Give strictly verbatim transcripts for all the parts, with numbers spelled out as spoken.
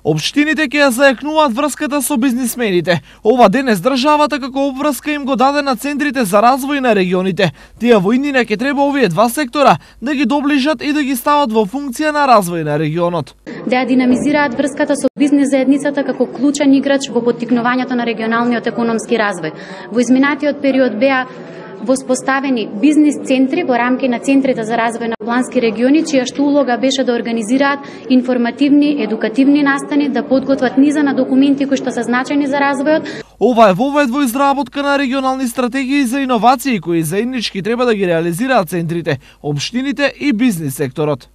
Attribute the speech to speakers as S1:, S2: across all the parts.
S1: Општините ќе ја зајакнуваат врската со бизнисмените. Ова денес државата како обврска им го даде на центрите за развој на регионите. Тие во иднина ќе треба овие два сектора да ги доближат и да ги стават во функција на развој на регионот.
S2: Да ја динамизираат врската со бизнис заедницата како клучен играч во поттикнувањето на регионалниот економски развој. Во изминатиот период беа воспоставени бизнис центри во рамки на центрите за развој на плански региони, чија што улога беше да организираат информативни, едукативни настани, да подготват низа на документи кои што се значајни за развојот.
S1: Ова е вовед во изработка на регионални стратегии за иновации кои заеднички треба да ги реализираат центрите, општините и бизнис секторот.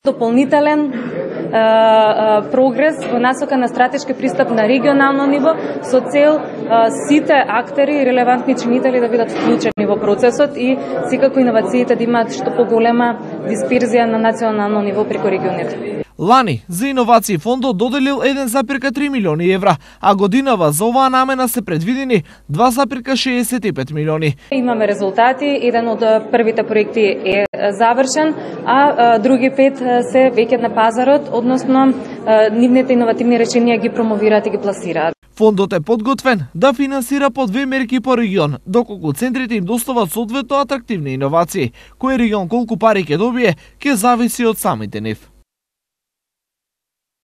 S3: Дополнителен прогрес во насока на стратешки пристап на регионално ниво со цел сите актери и релевантни чинители да бидат вклучени во процесот и секако иновациите да имаат што поголема дисперзија на национално ниво преку регионите.
S1: Лани за иновации фондот доделил еден зарез три милиони евра, а годинава за оваа намена се предвидени два зарез шеесет и пет милиони.
S3: Имаме резултати, еден од првите проекти е завршен, а други пет се веќе на пазарот, односно нивните иновативни решенија ги промовираат и ги пласираат.
S1: Фондот е подготвен да финансира по две мерки по регион, доколку центрите им достават соодветно атрактивни иновации. Кој регион колку пари ќе добие, ќе зависи од самите нив.